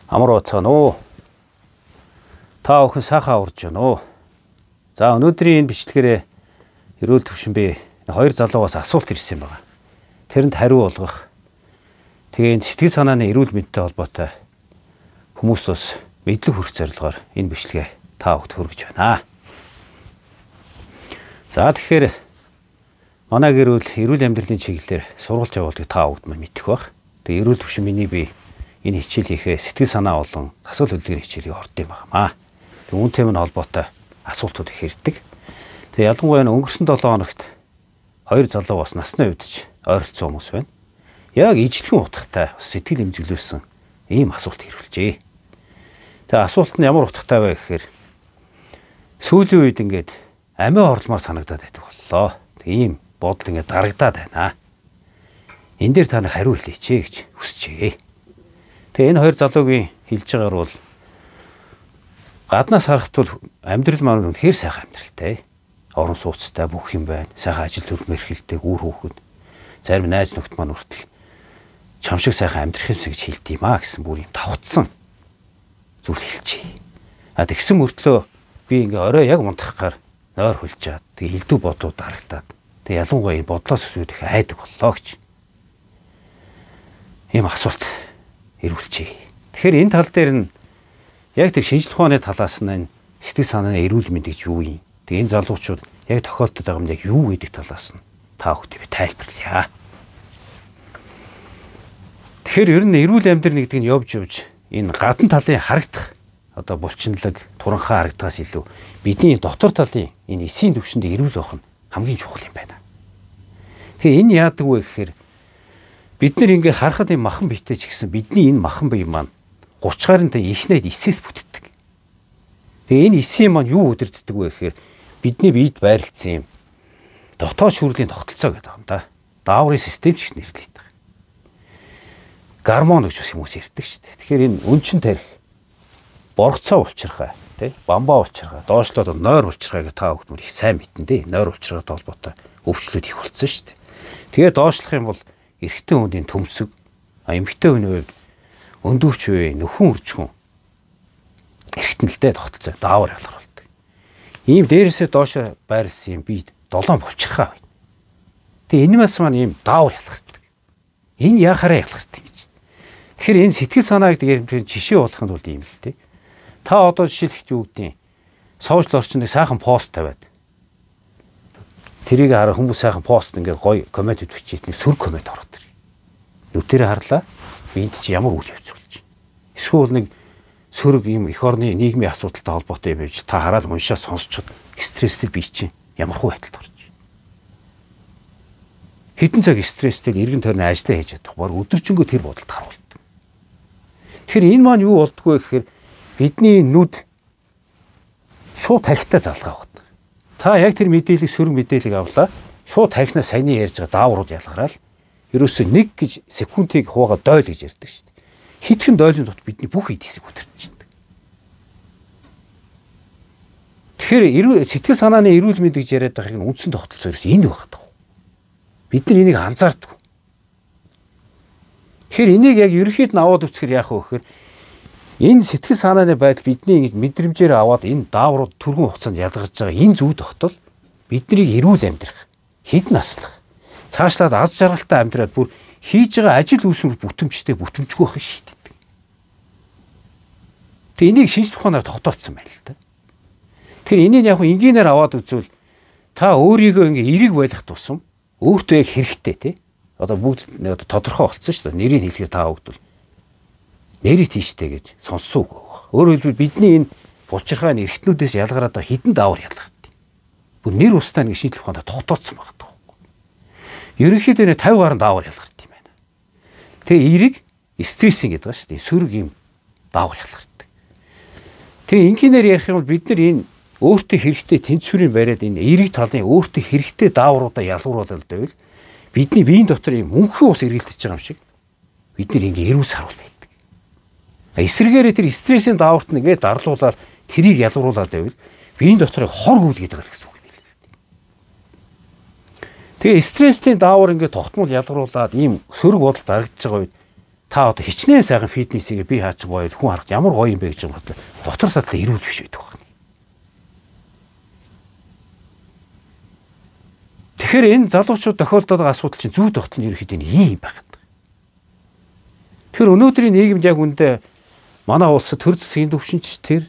Амар уцаана уу. Та охин сайхан урж байна уу. За өнөөдрийн энэ бичлэгээрээ эрүүл төвшин би хоёр залуугаас асуулт ирсэн байна. Тэрэнд хариу олгох. Тэгээ энэ сэтгэл санааны эрүүл мэндтэй холбоотой хүмүүст бас мэдлэг хүргэх зорилгоор энэ бичлэгээ та бүхэнд хүргэж байна. За тэгэхээр манай эрүүл амьдралын чиглэлээр сургалж явуулдаг та бүхэнд маань мэдэх бах. Тэгээ эрүүл төвшин миний би энэ хичээл хийхээ сэтгэл санаа болон асуулт хөдөлгөөний хичээлийг орд юм байна. Тэг үүнтэй мань холбоотой асуултууд их ирдэг. Тэг ялангуяа өнгөрсөн 7 хоногт хоёр залуу бас насны үдч ойролцсон хүмүүс байна. Яг ижлэгэн утгатай сэтгэл эмзэглүүлсэн ийм асуулт ирүүлжээ. Тэг асуулт нь ямар утгатай вэ гэхээр сүүлийн үед ингээд амиа орломоор санагдаад байдаг боллоо. Тэг ийм бодол ингээд дарагдаад байна. Энэ дээр та нар хариу хэлээч гэж хүсчээ. Тэгээ энэ хоёр залуугийн хэлж байгаагаар бол гаднаас харахад бол амьдрал маань үнэхээр сайхан амьдралтай. Орон сууцтай бүх юм байна. Сайхан ажил төрөл мэрхэлтэй үр хүүхэд. Зарим найз нөхд маань хүртэл чам шиг сайхан амьдрах юмсан гэж хэлдэг юм аа гэсэн бүр юм давхцсан зүйл хэлчихье. А тэгсэн мөртлөө би ингээ орой яг унтахгаар нойр хулжаад тэгээ элдв бодууд дарагдаад тэгээ ялангуяа энэ бодлоос өсвөх айдаг боллоо гэж. Ийм асуулт ирүүлчихье. Тэгэхээр энэ тал дээр нь яг тэр шинжлэх ухааны талаас нь сэтгэл санааны эрүүл мэнд гэж юу юм? Тэгээ энэ залуучууд яг тохиолдод байгаа юм яг юу гэдэг талаас нь та бүхэнд би тайлбарлая. Тэгэхээр ер нь эрүүл амьдрал гэдэг нь явж энэ гадна талын харагдах одоо булчинлаг туранхаа харагдахаас илүү бидний дотор талын энэ эсийн төвшөнд эрүүл байх нь хамгийн чухал юм байна. Тэгэхээр энэ яадаг вэ гэхээр бид нэр ингээ харахад юм махан биетэй ч гэсэн бидний энэ махан бие маань 30 гаруй ихнээд эсээс бүтдэг. Тэгээ энэ эсийн маань юу өдөрддөг вэ гэхээр бидний биед байрлалцсан юм дотоод шүүрлийн тогтолцоо гэдэг юм да. Дааврын систем ч гэж нэрлэдэг. Гормон гэж бас хүмүүс ярьдаг шүү дээ. Тэгэхээр энэ өнчин тарих боргоцоо улчирхай тий бамбаа улчирхай доошлоод нойр улчирхайг та бүхэн их сайн мэднэ дээ. Нойр улчирхайтай холбоотой өвчлөлт их болсон шүү дээ. Тэгээ доошлох юм бол эрэгтэй хүний төмсөг, эмэгтэй хүний хувьд өндөвч үе нөхөн үржихүн эргэтнэлтэй тогтолцоо даавар ялгаруулдаг. Ийм дээрээсээ доош байрлсан юм би 7 булчирхаа байна. Тэгээ энэ бас маань ийм даавар ялгардаг. Энэ яхаараа ялгардаг гэж. Тэгэхээр энэ сэтгэл санаа гэдэг жишээ болгохын тулд ийм л дээ. Та одоо жишээлх юу гэдэг сошиал орчинд сайхан пост тавиад тэрийг хараа хүмүүс сайхан пост ингээд гоё коммент бичиж нэг сөрөг коммент ороод ирнэ. Нүдэрээ харлаа. Энд чи ямар үйл явц болж байна. Эсвэл нэг сөрөг юм эх орны нийгмийн асуудалтай холбоотой юм байж та хараад уншаа сонсчод стресстэй бий чинь ямар хөө байдалд орж байна. Хэдэн цаг стресстэй эргэн тойрны ажиллаа хийж чадах баг өдөржингөө тэр бодолд харуулдаг. Тэгэхээр энэ маань юу болдгоо гэхээр бидний нүд шууд тархитай залгаа байна. Та яг тэр мэдээлэл сөрөг мэдээлэл авлаа. Шууд тархинаас саяны ярьж байгаа дааврууд ялгараад ерөөсөө 1 гэж секундыг хуугаа дойл гэж ярьдаг шүү дээ. Хитгэн дойлын дот бидний бүх эдисийг өдөрчдөг. Тэгэхээр сэтгэл санааны эрүүл мэнд гэж яриад байгаа юм үндсэн тогтолцоо ерөөс энэ багтдаг. Бид нар энийг анзаардаг. Тэгэхээр энийг яг ерөнхийд нь аваад үцхээр яах вэ гэхээр энэ сэтгэл санааны байдал бидний ингэж мэдрэмжээр аваад энэ дааврууд түргэн хугацаанд ялгарч байгаа энэ зүй тогтол биднийг эрүүл амьдрах, хэд наслах, цаашлаад аз жаргалтай амьдраад бүр хийж байгаа ажил үйлсээр бүтэмжтэй бүтэмжгүй байх шийддэг. Тэгээ энийг шинжлэх ухаанаар тогтооцсон байна л да. Тэгэхээр энийг яг энгийнээр аваад үзвэл та өөрийгөө ингээ эерэг байлгах тусам өөртөө яг хэрэгтэй тий. Одоо бүгд тодорхой болцсон шүү дээ. Нэрийг хэлэхээр та бүгд нэрийг тийштэй гэж сонссон үг. Өөрөөр хэлбэл бидний энэ булчирхайн эргэтнүүдээс ялгараад байгаа хідэн даавар ялгардаг. Бүр нэр устдаа нэг шинжлэх ухаанаар тогтооцсон байна. Ерөнхийдөө 50 гаруй даавар ялгардаг юм байна. Тэгээ эерэг стрессинг гэдэг ба шүү дээ. Сөрөг юм даавар ялгардаг. Тэгээ инженеэр ярих юм бол бид нар энэ өөртөө хэрэгтэй тэнцвэрийн бариад энэ эерэг талын өөртөө хэрэгтэй даавруудаа ялгууруулаад байвал бидний биеийн дотор юм мөнхөн ус эргэлдэж байгаа юм шиг бид нар ингээ эрүүл сарвал байдаг. Эсвэргээрээ тэр стрессийн дааварт нэгээ дарлуулаад тэрийг ялгууруулаад байвал биеийн дотор хор гүйлгээд байгаа гэсэн үг юм л. Тэгээ стрессийн даавар ингээ тогтмол ялгаруулад ийм сөрөг бодол дарагдж байгаа үед та одоо хичнээн сайхан фитнесийг би хаач гоё хүн харах ямар гоё юм бэ гэж бодоход дотор талаа эрүүл биш байдаг байна. Тэгэхээр энэ залуучууд тохиолдоод байгаа асуудал чинь зүй тогтол нь ерөөхдөө ийм байгаад байна. Тэгэхээр өнөөдрийн нийгэмд яг үндэ манай улсад төр засгийн төвшинч тэр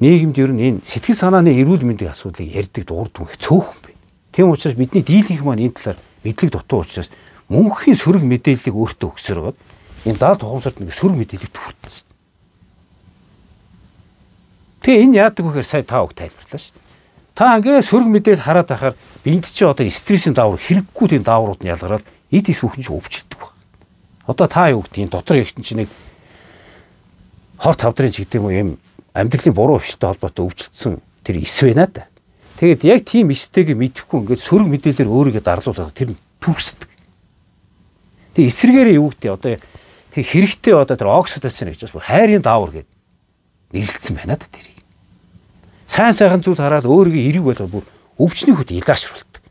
нийгэмд ер нь энэ сэтгэл санааны эрүүл мэндийн асуудлыг ярьдаг дурдгүй цөөхөн бай. Тийм учраас бидний дийлэнх маань энэ талаар мэдлэг дутуу учраас мөнхийн сөрөг мэдээллийг өөртөө өгсөрөөд энэ даад тухамсарт нэг сөрөг мэдээлэл төрүүлсэн. Тэгээ энэ яадаг вэ гэхээр сая та үг тайлбарлаа шүү дээ. Та ингээ сөрөг мэдээлэл хараад байхаар биэнд чи одоо стрессийн даавар хэрэггүй тийм дааврууд нь ялгараад эд эс бүхэн чинь өвчлөдөг баг. Одоо та юу гэдэг юм дотор ягт чинь нэг хор тавдрын ч гэдэг юм амьдралын буруу өвчтэй холбоотой өвчлөсөн тэр эс байна да. Тэгээд яг тийм эстэйг мэдэхгүй ингээд сөрөг мэдээлэлээр өөрийгөө дарлуулаад тэр нь түрхсдэг. Тэгээ эсрэгээр юу гэдэг одоо тэр хэрэгтэй одоо тэр оксидоцин гэж бас хайрын даавар гэдэг нэрлэлсэн байна да тэр. Сайн сайхан зүйл хараад өөрийгөө эрэг болгоод бүр өвчний хөт илаашруулдаг.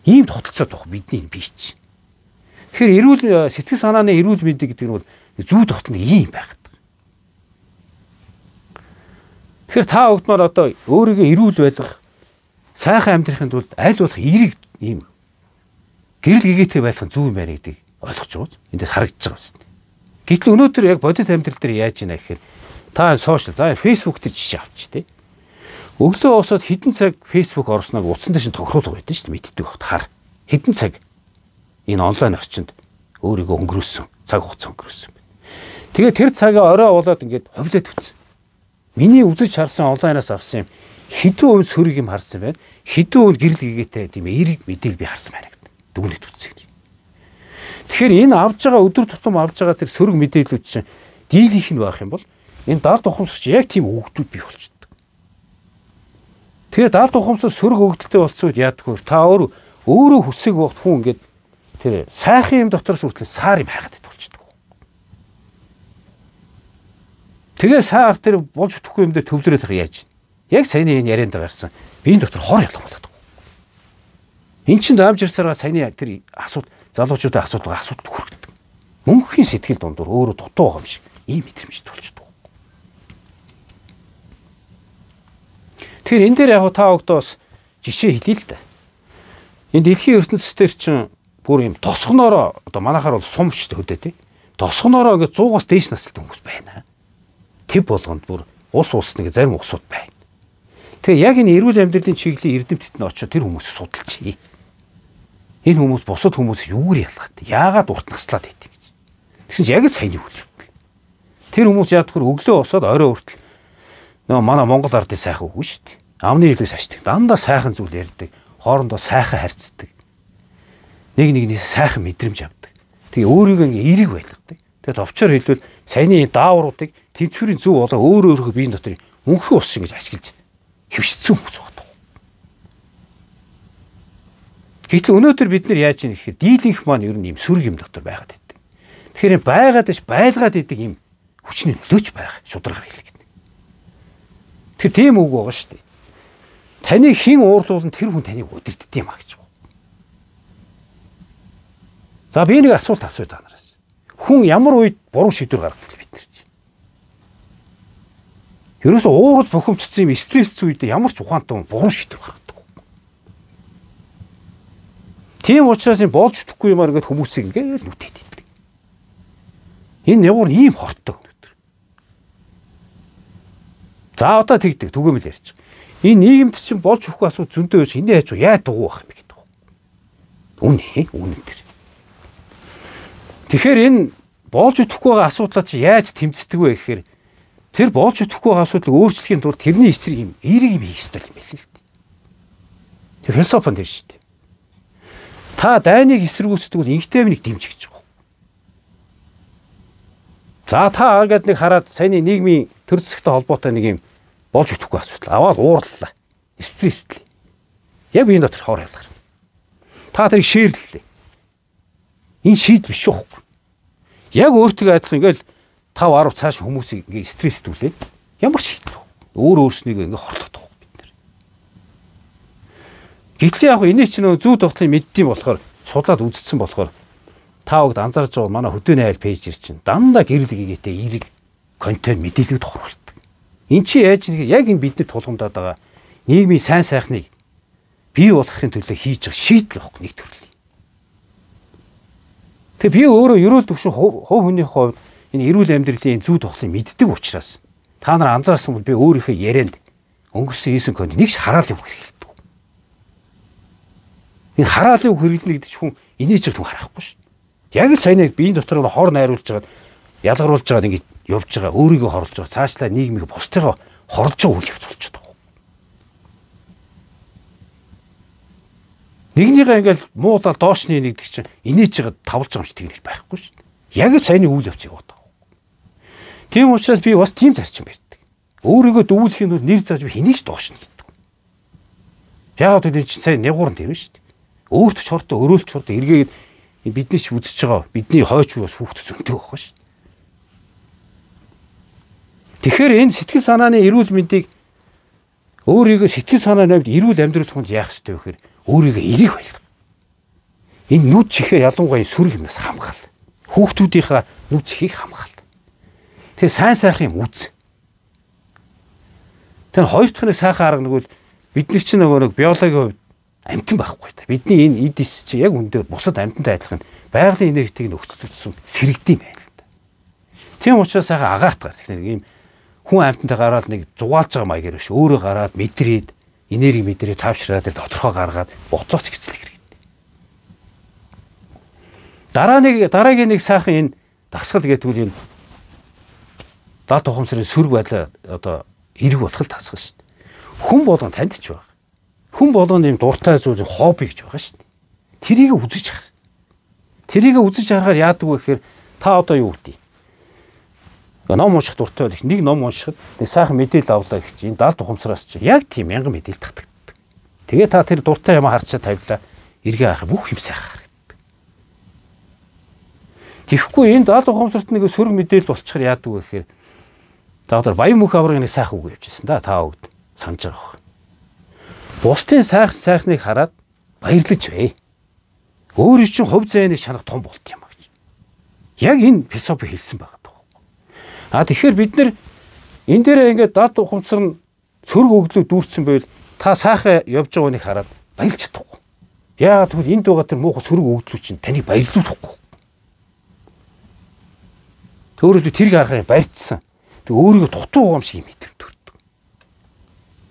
Ийм тогтолцоо тох бидний бие чинь. Тэгэхээр эрүүл сэтгэл санааны эрүүл мэндийг гэдэг нь бол зүй тогтол нь ийм байгаад. Тэгэхээр та бүгдмаар одоо өөрийгөө эрүүл байлгах, сайхан амьдрахын тулд аль болох эрэг ийм гэрэл гэгээтэй байх нь зүй юм байна гэдгийг ойлгож байгаа. Эндээс харагдаж байгаа юм. Гэтэл өнөөдөр яг бодит амьдрал дээр яаж ийна гэхээр та сошиал за фейсбુક дээр жишээ авч тий. Өглөө босоод хэдэн цаг фейсбુક орсног утсан дээр шин тохируулга байдаг шүү дээ мэддэг бохот хар. Хэдэн цаг энэ онлайн орчинд өөрийгөө өнгөрөөсөн, цаг хугацаа өнгөрөөсөн. Тэгээд тэр цагаа орой болоод ингээд ховлоод төцсөн. Миний үзэж харсан онлайнаас авсан юм хэдэн өв сөрөг юм харсан байна. Хэдэн өв гэрэл гэгээтэй тийм эерэг мэдээл би харсан байна гэдэг. Дүгнэлт үзсэн гэж. Тэгэхээр энэ авж байгаа өдөр тутам авж байгаа тэр сөрөг мэдээлүүд чинь дийлийнх нь байх юм бол энэ даалт ухамсарч яг тийм өгдүүд бий болчихдог. Тэгээ даалт ухамсар сөрөг өгдөлтэй болцоод яадаг вэ? Та өөрөө хүсэг багт хүн ингээд тэр сайхан юм дотроос хүртэл саар юм хайгаад болчихдог. Тэгээ саар тэр болж өгөхгүй юм дээр төвлөрөөд байгаа яаж вэ? Яг саяны энэ ярианд гарсан биеийн дотор хор ялгам болоод байгаа. Энд чинь даамж ирсараа саяны тэр залуучуудын асуудал хүргэдэг. Мөнхийн сэтгэл дундуур өөрөө дутуу байгаа юм шиг ийм мэдрэмж тулчдаг. Тэгэхээр энэ дээр яг та өгдөөс жишээ хэлье л да. Энэ дэлхийн ертөнцийн чинь бүр юм тосгоноороо одоо манайхаар бол сум шүү дээ хөдөө тий. Тосгоноороо ингээд 100-аас дээш настай хүмүүс байна. Тэв болгонд бүр ус нэг зарим усууд байна. Тэгээ яг энэ эрүүл амьдралын чиглэлийн эрдэмтэд нь очиод тэр хүмүүсийг судалчихъя. Энэ хүмүүс бусад хүмүүс юугаар ялгаатай? Яагаад урт наслаад байдаг гэж. Тэгсэн чинь яг л саяны хүлж байна. Тэр хүмүүс яад төхөр өглөө босоод орой хүртэл нөгөө манай Монгол ардын сайхан үгүй шүү дээ. Амны хэлээс ашигтай. Дандаа сайхан зүйл ярьдаг. Хоорондоо сайхан харьцдаг. Нэг нэгнээс сайхан мэдрэмж авдаг. Тэгээ өөрийгөө ингээ эерэг байлгадаг. Тэгээд товчоор хэлбэл саяны даавруудыг тэнцвэрийн зөв болоо өөрөө биеийн дотор мөнхийн ус шиг гэж ашиглаж хөвшсөн хүмүүс байна. Гэтэл өнөөдөр бид нар яаж ийм гэхээр дийлэнх маань ер нь ийм сүрэг юм дотор байгаад байдаг. Тэгэхээр байгаад иш байлгаад идэг ийм хүчний нөлөөч байгаа шударгаар хэлэгдэнэ. Тэр тийм үг байгаа шүү дээ. Таны хэн уурлуулсан тэр хүн таныг удирддаг юм а гэж байна. За би нэг асуулт асууя та нараас. Хүн ямар үед буруу шийдвэр гаргадаг бид нар чи. Ерөөсөө уурал бухимдсан юм стресс үед ямар ч ухаантай буруу шийдвэр гаргадаг. Тийм учраас энэ болж өгөхгүй юмар ингээд хүмүүсийг ингээд нүтэд иддэг. Энэ явар ийм хортой өнөдр. За одоо тэгдэг түгээмэл ярьж байгаа. Энэ нийгэмд чинь болж өгөхгүй асуудал зөндөө байж энийг яаж яа дугуй байх юм гэдэг. Үнэ тэр. Тэгэхээр энэ болж өгөхгүй байгаа асуудлаа чи яаж тэмцдэг вэ гэхээр тэр болж өгөхгүй байгаа асуудлыг өөрчлөхийн тулд тэрний эсрэг юм эерэг юм хийх ёстой юм байл л дээ. Тэр философи нь шүү дээ. Та дайныг эсэргүүцдэг бол инхтэйвнийг дэмжих гэж байна. За та ингээд нэг хараад саяны нийгмийн төр засагтай холбоотой нэг юм болж өгөхгүй асуудал аваад уурлалаа. Стресслээ. Яг биеийн дотор хоор ялгар. Та тэрийг шеэрлээ. Энэ шийд биш шүү. Яг өөртөө адилхан ингээл 5-10 цааш хүмүүсийг ингээ стресстүүлээд ямар шийдэл вэ? Өөрснийгөө ингээ хорлоод байгаа бид нар. Гэтэл яг энэ чинь зүү тогтолцоо мэддэм болохоор судлаад үзсэн болохоор та бүгд анзаарч байгаа манай хөдөөний айл пэйж чинь дандаа гэрэл гэгээтэй эерэг контент мэдээлэлд оруулдаг. Эн чинь яаж нэг яг энэ бидний тулгамдаад байгаа нийгмийн сайн сайхныг бий болгохын төлөө хийж байгаа шийдэл байхгүй нэг төрлийн. Тэгээ би өөрөө ерөөл төвшин хувь хүний хувьд энэ эрүүл амьдралын зүй тухлыг мэддэг учраас та нар анзаарсан бол би өөрийнхөө ярианд өнгөрсөн 9 конт нэгч хараалын үг хэрэглэдэг. Энэ хараалын үг хэрэглэнэ гэдэг чинь хүн инээж байгаа хүн харахгүй шүү. Яг л сайн яг биеийн дотор хор найруулж байгаа ялгаруулж байгаа ингэ явж байгаа өөрийгөө хорлож байгаа цаашлаа нийгмийг бусдыгаа хорлож байгаа үйл явц болж байгаа. Нэгнийгээ ингээл муудаа доошны нэгдэг чинь инээж байгаа тавлж байгаа юм шиг тэгнэж байхгүй шүү. Яг л сайн үйл явц яваад байгаа. Тийм учраас би бас тийм зарчим барьдаг. Өөрийгөө дүүлэхийн тулд нэр зааж би хэнийг ч доош нь гэдэг. Яг л чинь сайн нэгуурн тэр шүү дээ. Өөрт ч хортой өрөөлч хортой эргээд бидний ч үзэж байгаа бидний хойч бас хүүхд зөнтэй байгаа шүү. Тэгэхээр энэ сэтгэл санааны эрүүл мэндийг өөрийгөө сэтгэл санааны хувьд эрүүл амьдрал хүнд яах ёстой вэ гэхээр өөрийгөө эрэг байлгах. Энэ нүд чихээ ялангуяа сүрэг юмнаас хамгаал. Хүүхдүүдийнхаа нүд чихийг хамгаал. Тэгээ сайн сайхан юм үз. Тэр хоёр дахь нь сайхан арга нэгвэл бид нар чинь нөгөө биологийн хувьд амьтан байхгүй та. Бидний энэ эдис чи яг үндэ бусад амьтантай адилхан байгалийн энергетик нөхцөлсөн сэрэгдэм байна л да. Тийм учраас сайхан агаарт гар. Тэгэхээр ийм хүн амьтантай гараад нэг зугаалж байгаа маягаар биш. Өөрөө гараад мэдрээд энерги мэдрээ тавшраад тэр тодорхой гаргаад бодлооч гэцэл хэрэгтэй. Дараагийн нэг сайхан энэ дасгал гэдгүүл энэ дат ухамсарын сүрэг байлаа одоо эрэг ботгол дасгал шүү дээ. Хүн болгон танд ч байгаа. Хүн болгон юм дуртай зүйл хобби гэж байгаа шүү дээ. Тэрийг үзэж харах. Тэрийг үзэж харахаар яадаг вэ гэхээр та одоо юу гэдэг? Ном унших дуртай байх. Нэг ном уншихад нэг сайхан мэдээлэл авлаа гэж энэ дат ухамсараас чи яг тийм мянган мэдээлэл татдаг. Тэгээ та тэр дуртай юм харчаа тавилаа. Эргээ харах бүх юм сайхан харагддаг. Тэгэхгүй энэ дат ухамсарт нэг сөрөг мэдээлэл болчихоор яадаг вэ гэхээр та одоо баян мөнх аврагын нэг сайхан үг явьжсэн да та бүгд санаж байгаа байх. Бусдын сайхныг хараад баярлаж бай. Өөрөө чинь хувь зайны шанах том болт юм а гэж. Яг энэ философи хэлсэн байгаа. Тэгэхээр бид нар энэ дээрээ ингээд дат ухамсар нь сөрөг өглөө дүүрсэн байвал та сайхан явж байгааг нэг хараад баярлж чадахгүй. Яагаад гэвэл энд байгаа тэр муухай сөрөг өглөө чинь таныг баярлуулахгүй. Өөрөөр тэрийг харахаар баярцсан. Тэг өөрийгөө дутуу байгаа юм шиг мэдрэмж төрдөг.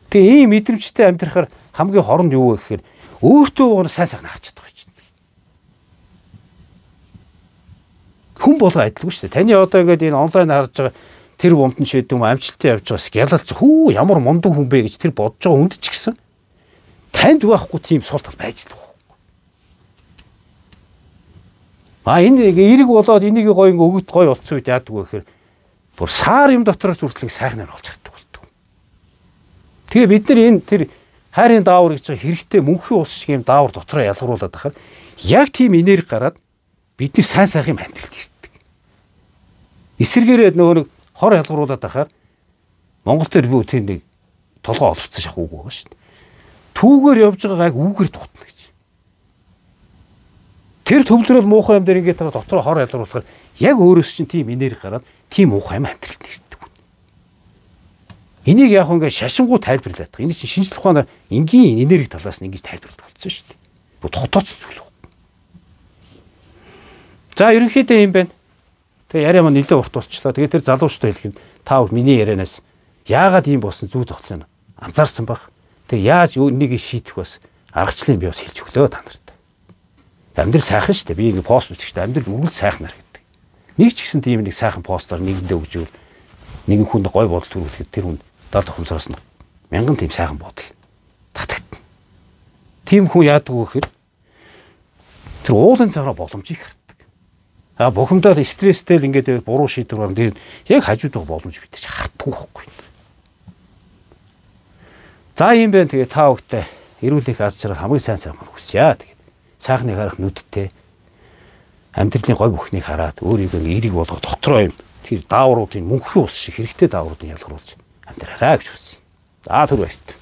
Тэгээ ийм мэдрэмжтэй амьдрахаар хамгийн хоронд юу вэ гэхээр өөртөө байгаа нь сайн сайхан харж чаддаг юм чинь. Хүн болго адилгүй шүү дээ. Таны одоо ингээд энэ онлайн харж байгаа тэр бомтон шийдэв юм амжилттай явж байгаас гялалц хүү ямар мундаг хүн бэ гэж тэр бодож байгаа хүнд ч гэсэн танд байхгүй тийм сул тал байж л байгаа. Энэ эрэг болоод энийг гоё өгöd гоё утсан үед яадаг вэ гэхээр бүр саар юм дотроос үртлэг сайхнаар олж хардаг болдог. Тэгээ бид нар энэ тэр хайрын даавар гэж байгаа хэрэгтэй мөнхийн ус шиг юм даавар дотроо ялгаруулад байхаар яг тийм энерги гараад бидний сайн сайхан юм амьдралд ирдэг. Эсэргээрээ нөгөө хор ялгаруулад байхаар Монгол төр би тэр нэг толгой олцсон шахууг байгаа шүү дээ. Түүгээр явж байгаа яг үүгээр дутна гэж. Тэр төвлөрөл муухай юм дээр ингээд дотроо хор ялгаруулахаар яг өөрөөс чинь тийм энерги гараад тийм муухай юм амьдралд ирдэг. Энийг яг ингээд шашингуу тайлбарлаад байгаа. Энэ чинь шинжлэх ухаанаар энгийн энерги талаас нь ингэж тайлбарлаж болсон шүү дээ. Бо дотооц зүйл. За ерөнхийдөө юм байна. Тэгээ яриа маань нэлээд урт болчихлоо. Тэгээ тэр залуучтай хэлэхэд та бүхэн миний ярианаас яагаад ийм болсон зүй тогтлоо анзаарсан баг. Тэгээ яаж энийг шийдэх бас аргачлалыг би бас хэлж өглөө та нарт. Амьдрал сайхан шүү дээ. Би ингэ пост үтгэжтэй амьдрал үргэлж сайхнаар гэдэг. Нэг ч гэсэн тийм нэг сайхан постоор нэгэндээ өгжүүл нэгэн хүнд гой бодол төрүүлэхэд тэр хүн дад ухамсараас нь мянган тийм сайхан бодол татагдана. Тийм хүн яадаг вэ гэхээр тэр уулын цагаараа боломжийг хардаг. Бухимдаад стресстэй л ингээд буруу шийдвэр гаргана. Тэгээд яг хажууд байгаа боломж бид ч харддаг байхгүй. За юм байна. Тэгээ та бүхтэй эрүүл их аз жаргал хамгийн сайн сайхнаар хүсье. Тэгээд сайхныг харах нүдтэй амьдралын гой бүхнийг хараад өөрийгөө эерэг болгох дотроо юм тэр даавруудын мөнхийн ус шиг хэрэгтэй даавруудын ялгаруулж амьдраарай гэж хүсье. За түр баярт.